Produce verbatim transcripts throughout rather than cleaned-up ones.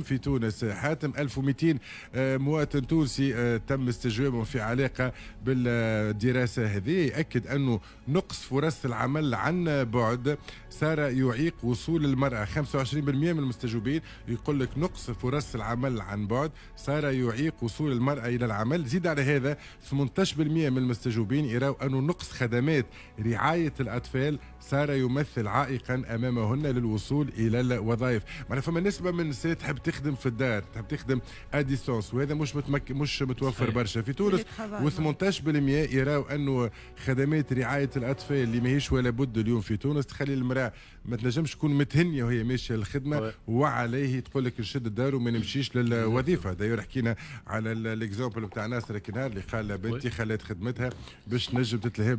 في تونس. حاتم، ألف ومئتين آه، مواطن تونسي آه، تم استجوابهم في علاقة بالدراسة هذه. يأكد أنه نقص فرص العمل عن بعد صار يعيق وصول المرأة. خمسة وعشرين بالمية من المستجوبين يقول لك نقص فرص العمل عن بعد صار يعيق وصول المرأة إلى العمل. زيد على هذا، ثمنطاش بالمية من المستجوبين يراو أنه نقص خدمات رعاية الأطفال صار يمثل عائقا أمامهن للوصول إلى الوظائف. معناها فما نسبة من النساء تحب تخدم في الدار، تحب تخدم à distance، وهذا مش متمك... مش متوفر برشا في تونس. وثمنطاش بالمية يراو انه خدمات رعاية الاطفال اللي ماهيش ولا بد اليوم في تونس تخلي المراة ما تنجمش تكون متهنيه وهي ماشية للخدمه، وعليه تقول لك نشد الدار وما نمشيش للوظيفه. d'ailleurs حكينا على l'exemple بتاع ناصر كنهار اللي قال بنتي خلت خدمتها باش تنجم تتلهى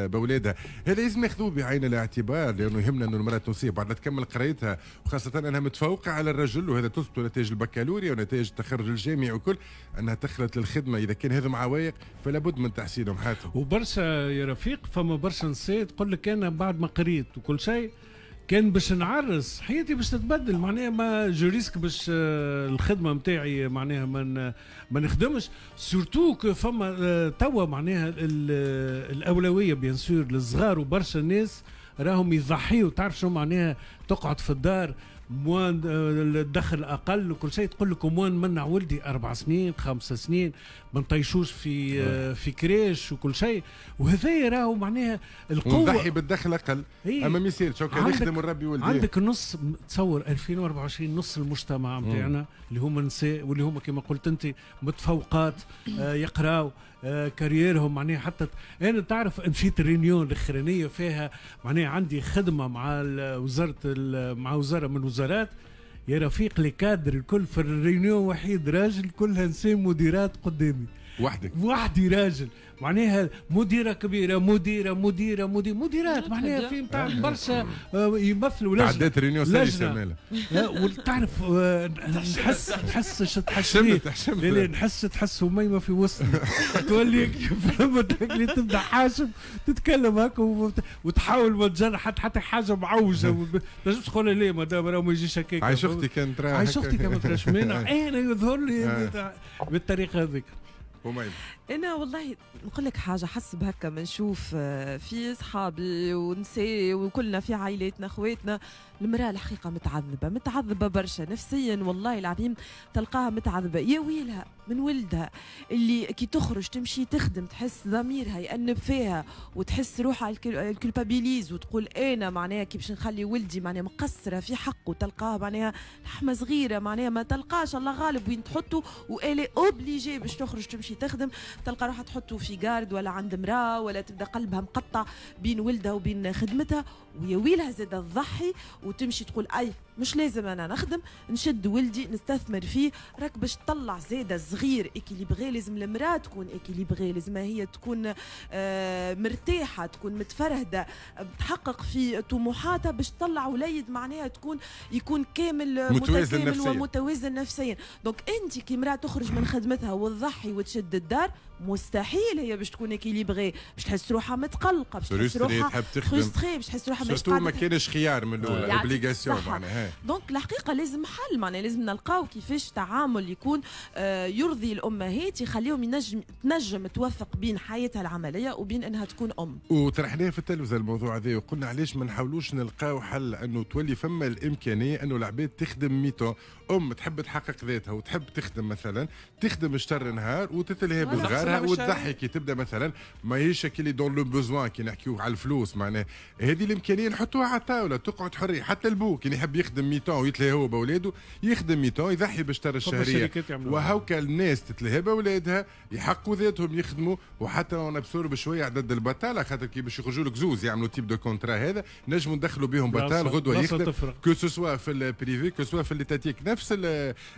باولادها. هذا لازم ناخذوه بعين الاعتبار، لانه يهمنا انه المراة التونسية بعد ما تكمل قرايتها، وخاصة انها متفوقه على الرجل، وهذا تثبت نتائج البكالوريا ونتائج التخرج الجامعي وكل، انها تخلط للخدمه. اذا كان هذا عوائق فلا بد من تحسينهم، حاتم. وبرشا يا رفيق، فما برشا نساء تقول لك انا بعد ما قريت وكل شيء كان باش نعرس حياتي باش تتبدل، معناها ما je risque باش آه، الخدمة نتاعي معناها ما ما نخدمش، surtout que فما آه، توا معناها الاولوية bien sûr للصغار، وبرشا ناس راهم يضحيوا. تعرف شو معناها تقعد في الدار، moins الدخل اقل وكل شيء، تقول لك moins نمنع ولدي اربع سنين، خمس سنين، ما نطيشوش في آه. في crèche وكل شيء، وهذا راهو معناها القوه، نضحي بالدخل اقل إيه؟ اما ما يصيرش كان نخدم ونربي ولدي. عندك نص، تصور ألفين وأربعة وعشرين نص المجتمع نتاعنا اللي هما نساء، واللي هما كما قلت انت متفوقات، آه يقراو، آه carrière هم معناها. حتى انا تعرف مشيت ال réunion الاخرانية فيها معناها عندي خدمة مع وزارة مع وزارة من الوزارات، يا رفيق les cadres الكل في ال réunion، وحيد راجل، كلها نساء مديرات قدامي. وحدك؟ وحدي راجل، معناها مديره كبيره، مديره، مديره، مدير، مديرات، معناها في نتاع برشا آه، يمثلوا لجنه. عدات réunion سلسه. وتعرف آه، نحس نحس تحس حشمت حشمت. لا، نحس تحس أميمة في وسطنا، تولي فهمت اللي تبدا حاشم تتكلم هكا وتحاول ما تجرح حتى حتى حاجة معوجه، ما تنجمش تقول ليه مدام راه ما يجيش هكاك. عايش اختي كان ترى. عايش اختي كان ما تراش مانع، انا يظهر لي آه. بالطريقة هذيك. انا والله نقول لك حاجه، حسب هكا ما نشوف آه، في صحابي ونساء وكلنا في عائلاتنا، اخواتنا، المراة الحقيقة متعذبه، متعذبه برشا نفسيا، والله العظيم تلقاها متعذبه، يا ويلها من ولدها اللي كي تخرج تمشي تخدم تحس ضميرها يأنب فيها وتحس روحها culpabilise وتقول انا معناها كي باش نخلي ولدي معناها مقصرة في حقه. تلقاها معناها لحمه صغيره، معناها ما تلقاش الله غالب وين تحطه و elle est obligée باش تخرج تمشي تخدم. تلقى روحها تحطه في garde ولا عند امراة ولا تبدا قلبها مقطع بين ولدها وبين خدمتها، ويا ويلها زاد تضحي وتمشي تقول اي مش لازم انا نخدم، نشد ولدي نستثمر فيه. راك باش تطلع زاده صغير équilibré لازم المراة تكون équilibrée، لازم هي تكون آه، مرتاحه، تكون متفرهده، تحقق في طموحاتها باش تطلع وليد معناها تكون يكون كامل متوازن متكامل ومتوازن نفسيا. donc انت كي امراة تخرج من خدمتها وتضحي وتشد الدار، مستحيل هي باش تكون équilibrée، باش تحس روحها متقلقه، باش تحس روحها frustrée، باش تحس روحها مش ما كانش خيار من الاول، obligation معناها. donc الحقيقة لازم حل، معناها لازم نلقاو كيفاش تعامل يكون آه، يرضي الامهات، يخليهم ينجم تنجم توفق بين حياتها العملية وبين انها تكون ام. وطرحناه في التلفزة الموضوع هذا، وقلنا علاش ما نحاولوش نلقاو حل انه تولي فما الامكانية انه العباد تخدم mi-temps. ام تحب تحقق ذاتها وتحب تخدم مثلا، تخدم شطر نهار وتتلهي بصغارها وتضحي كي تبدا مثلا ماهيش كي dans le besoin، كي نحكيو على الفلوس. معناها هذه الامكانية نحطوها على الطاوله، تقعد حريه. حتى البو كي يحب يخدم mi-temps ويتلهي هو باولاده، يخدم mi-temps، يضحي بشطر الشهريه، وهوكا الناس تتلهي باولادها، يحققوا ذاتهم، يخدموا، وحتى on absorbe شوية عدد البطاله، خاطر كي باش يخرجوا لك زوز يعملوا type de contrat هذا نجموا ندخلوا بهم بطال غدوه يخدم، que ce soit في ال privé، que ce soit في l'étatique. نفس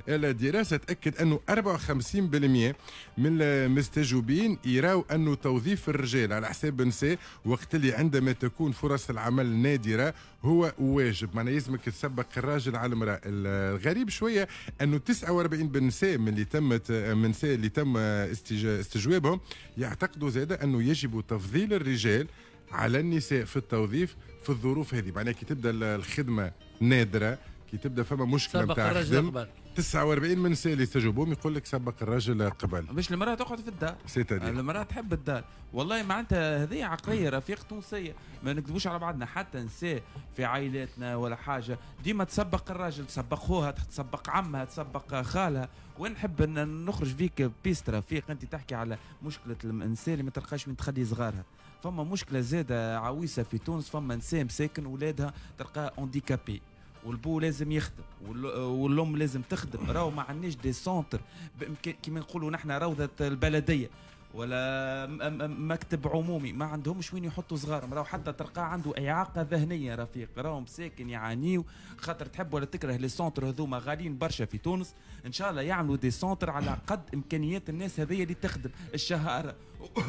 الدراسة تاكد انه أربعة وخمسين بالمية من المستجوبين يراو انه توظيف الرجال على حساب النساء وقت اللي عندما تكون فرص العمل نادرة هو واجب. معناها يلزمك تسبق الراجل على المراه. الغريب شوية انه تسعة وأربعين بالنساء من اللي تمت من النساء اللي تم استجوابهم يعتقدوا زاده انه يجب تفضيل الرجال على النساء في التوظيف في الظروف هذه. معناها كي تبدا الخدمة نادره، كي تبدا فما مشكلة نتاع خدم. تسعة وأربعين من النساء اللي استجوبوهم يقول لك سبق الرجل قبل باش المراة تقعد في الدار. المراة تحب الدار. والله معناتها هذه عقلية رفيق تونسية، ما نكذبوش على بعضنا، حتى نساء في عائلاتنا ولا حاجة ديما تسبق الراجل، تسبق خوها، تسبق عمها، تسبق خالها. ونحب ان نخرج فيك piste رفيق، انت تحكي على مشكلة الانسان اللي ما تلقاش وين تخلي صغارها. فما مشكلة زاده عويصة في تونس، فما نساء مساكن ولادها تلقاها handicapés، والبو لازم يخدم والام لازم تخدم. راهو ما عندناش des centres كيما نقولوا نحن روضة البلدية ولا مكتب عمومي، ما عندهمش وين يحطوا صغارهم. راهو حتى تلقاه عنده اعاقه ذهنية رفيق، راهو مساكن يعانيو خاطر تحب ولا تكره les centres هذوما غاليين برشا في تونس. ان شاء الله يعملوا des centres على قد امكانيات الناس هذيا اللي تخدم الشهاره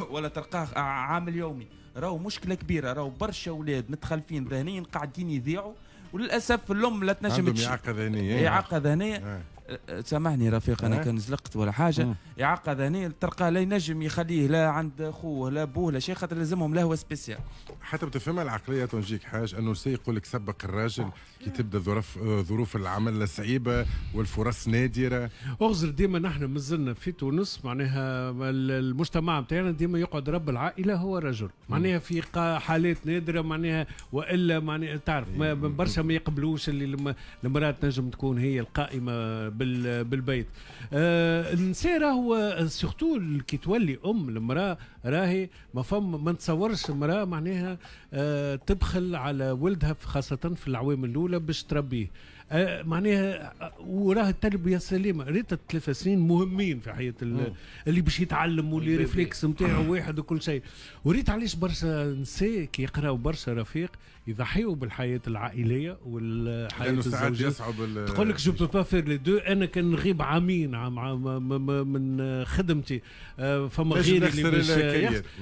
ولا تلقاه عامل يومي. راهو مشكلة كبيرة، راهو برشا اولاد متخلفين ذهنيا قاعدين يضيعوا، وللاسف الام لا تنجم عندهم اعاقه ذهنية. اعاقه ذهنية سامحني رفيق انا كان زلقت ولا حاجة. اعاقه ذهنية تلقاه لا ينجم يخليه لا عند خوه لا بوه لا شيء، خاطر لازمهم لهوه spéciale. حتى بتفهمها العقلية تنجيك حاج انه سي يقول لك سبق الراجل كي تبدا ظروف ظروف العمل صعيبة والفرص نادرة. اغزر ديما نحن مازلنا في تونس معناها المجتمع نتاعنا ديما يقعد رب العائلة هو الرجل، معناها في حالات نادرة معناها والا معناها تعرف برشا ما يقبلوش اللي المراة تنجم تكون هي القائمة بالبيت. آه النساء راهو surtout كي تولي ام المراة راهي ما فم ما نتصورش المراة معناها آه تبخل على ولدها خاصة في العوام الاولى باش تربيه. آه معناها وراه التربية السليمة، ريت الثلاث سنين مهمين في حياة اللي باش يتعلم و les réflexes نتاعو واحد وكل شيء. وريت علاش برشا نساء كي يقراو برشا رفيق يضحيوا بالحياة العائلية والحياة الزوجية. تقول لك je peux pas faire les deux، انا كان نغيب عامين عام من خدمتي فما غيري اللي باش،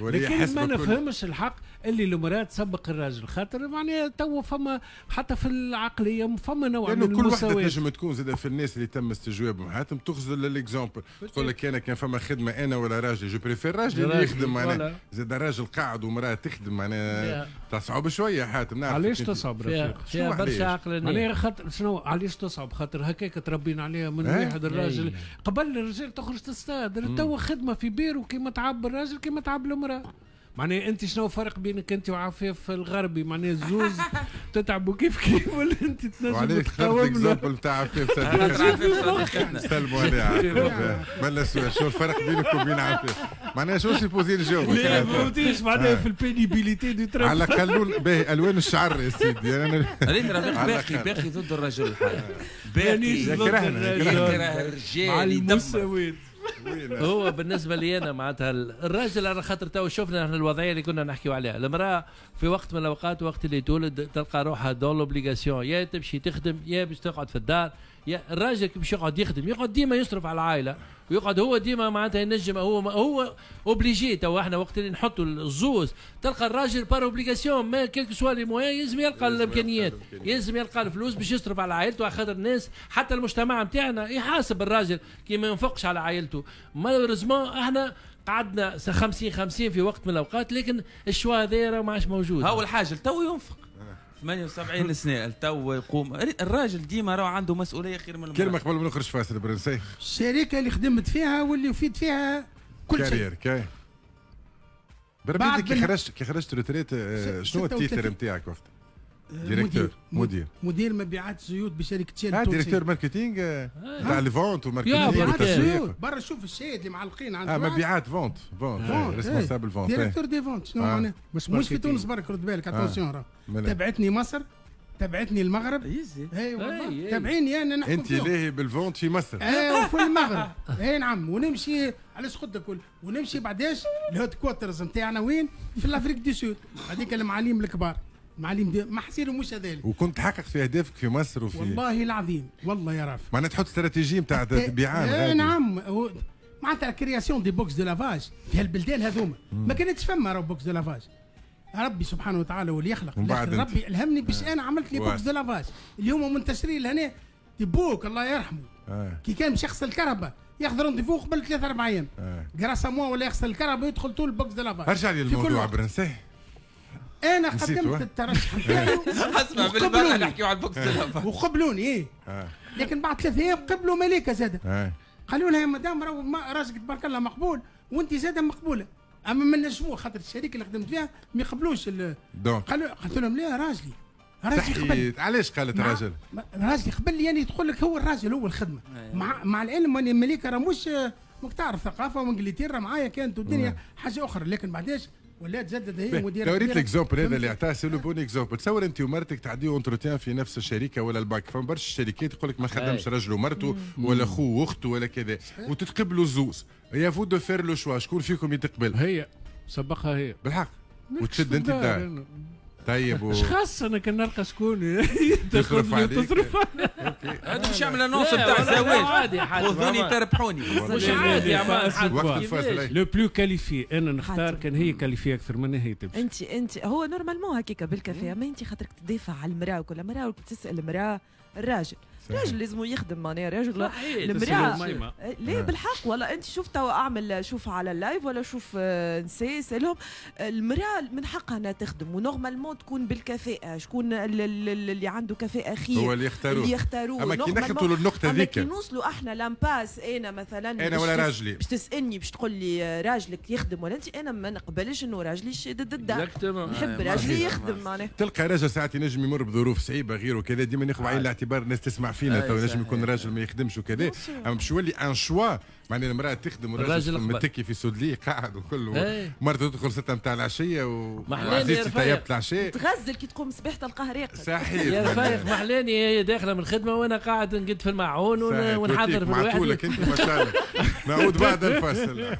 لكن ما نفهمش الحق اللي المراة تسبق الراجل، خاطر معناها تو فما حتى في العقلية فما نوع من المساواة. كل وحده تنجم تكون زاد في الناس اللي تم استجوابهم حاتم تغزل l'exemple، تقول لك انا كان فما خدمة انا ولا راجل je préfère راجل اللي يخدم، معناها زاد راجل قاعد ومراة تخدم معناها تصعب شوية حاتم. نعرف علاش تصعب رفيق؟ فيها برشا عقلانية معناها خاطر شنو علاش تصعب؟ خاطر هكاك تربينا عليها من واحد الراجل قبل الرجال تخرج تصطاد، توا خدمة في بيرو كيما تعب الراجل كيما تعب المراة. معناها انت شنو الفرق بينك انت وعفاف الغربي؟ معناها الزوز تتعبوا كيف كيف ولا انت تنجم تقاوم؟ l'exemple نتاع عفاف صديق سلموا عليه عفاف بلا سؤال، شو الفرق بينك وبين عفاف؟ معناها شو supposé نجاوبك؟ لا ما فهمتيش معناها في ال pénibilité du travail على الاقل باهي الوان الشعر يا سيدي. انا ريت رفيق باقي باقي ضد الرجل الحقيقة، باقي يكرهنا يكره الرجال المساواة. هو بالنسبة لي انا معناتها الراجل على خاطر تو شفنا احنا الوضعية اللي كنا نحكيو عليها، المراة في وقت من الاوقات وقت اللي تولد تلقى روحها dans l'obligation، يا تمشي تخدم يا باش تقعد في الدار، يا الراجل باش يقعد يخدم يقعد ديما يصرف على العائلة ويقعد هو ديما معناتها ينجم هو هو obligé. تو احنا وقت اللي نحطوا الزوز تلقى الراجل par obligation mais quels que soient les moyens يلزم يلقى الامكانيات، يلزم يلقى الفلوس باش يصرف على عائلته، على خاطر الناس حتى المجتمع نتاعنا يحاسب الراجل كي ما ينفقش على عائلته. malheureusement احنا قعدنا خمسين خمسين في وقت من الاوقات، لكن ال choix هذا ما عادش موجود. هو الحاجة تو ينفق ثمانية وسبعين سنة تو يقوم الراجل ديما راه عنده مسؤولية خير من المرأة. كلمة قبل ما نخرج فاصل برنسي. الشركة اللي خدمت فيها واللي وفيت فيها كل شيء. carrière كاي. بربي كي خرجت كي خرجت retraite شنو ال titre نتاعك وقت؟ directeur مدير مدير مبيعات زيوت بشركه شيل. اه directeur marketing تاع les ventes و marketing والتسويق. برا شوف الشاهد اللي معلقين عند اه مبيعات ventes ventes responsable ventes directeur des ventes. شنو معناها؟ مش في تونس برك رد بالك attention راه تبعتني مصر تبعتني المغرب اي والله تبعيني انا نحكم انت لاهي بال vente في مصر اي وفي المغرب اي نعم. ونمشي علاش قلت لك ونمشي بعداش ال headquarters نتاعنا وين؟ في l'Afrique du Sud هذيك المعاليم الكبار معاليم دي ما حسيرو مش هذالك. وكنت تحقق في اهدافك في مصر وفي والله العظيم والله يا رافع معناها تحط استراتيجية نتاع بيعان اي نعم. معناتها création des box de lavage في هالبلدان هذوما ما كانتش فما راهو box de lavage. ربي سبحانه وتعالى واللي يخلق ربي الهمني باش انا عملت les box de lavage اللي هما منتشرين لهنا. بوك الله يرحمه آه. كي كان باش يغسل الكرهبه ياخذ rendez-vous قبل ثلاث اربع ايام آه. grâce à moi ولا يغسل الكرهبه يدخل طول box de lavage. ارجع لي الموضوع برنسي. انا قدمت الترشح نتاعي اسمع بالبرا نحكيو على ال box de lavage وقبلوني ايه. لكن بعد ثلاث ايام قبلوا مليكة زاده. قالوا لها يا مدام راهو راجلك تبارك الله مقبول وانت زاده مقبولة، اما ما نجموه خاطر الشركة اللي خدمت فيها ما يقبلوش. قالوا قلت لهم لا راجلي راجلي قبل. علاش قالت راجل؟ راجلي قبل يعني تقول لك هو الراجل هو الخدمة. مع مع العلم ان مليكة راه مش ماك تعرف ثقافة وانجلترا معايا كانت والدنيا حاجة اخرى، لكن بعداش ولات زادت هي مديره. لو ريت l'exemple هذا اللي عطاه c'est le bon exemple. تصور انت ومرتك تعديو entretien في نفس الشركة ولا البنك، فما برشا الشركات يقول لك ما خدمش رجل ومرته ولا خو واخته ولا كذا، وتتقبلوا الزوز. à vous de faire le choix، شكون فيكم يتقبل؟ هي سبقها هي بالحق وتشد انت الدار. طيب و... اش خاص انا كان نلقى شكون تصرف عليك تصرف. هذا باش يعمل annonce نتاع الزواج، خذوني تربحوني. مش عادي يا le plus qualifié انا نختار كان هي qualifiée اكثر من هي تمشي. انت انت هو normalement هكاك بالكفاءه، ما انت خاطرك تدافع على المراة وكل مراة تسال المراة الراجل الراجل لازم يخدم معناها راجل المراة ليه بالحق. والله انت شوف توا اعمل شوف على ال live ولا شوف نساء سالهم، المراة من حقها انها تخدم و normalement تكون بالكفاءه، شكون اللي عنده كفاءة خير هو اللي يختاروه اللي يختاروه. اما كي نخلطوا للنقطة ذيك، كي نوصلوا احنا l'impasse، انا مثلا انا ولا راجلي باش تسالني باش تقول لي راجلك يخدم ولا انت، انا ما نقبلش انه راجلي شادد الدار، نحب راجلي يخدم معناها. تلقى راجل ساعات ينجم يمر بظروف صعيبة غيره كذا، ديما ناخذ بعين الاعتبار الناس تسمع فينا تو ينجم يكون راجل ما يخدمش وكذا، اما باش يولي un choix معناها المراة تخدم والراجل متكي في سودلي قاعد وكل، مرته تدخل ستة نتاع العشية وعزيزتي طيبت العشاء تغزل كي تقوم الصباح تلقاه راقد. صحيح يا رفيق محلاني هي داخله من الخدمة وانا قاعد نقد في المعون ونحضر في الواحد. معطولك انت ما شاء الله. نعود بعد الفاصل.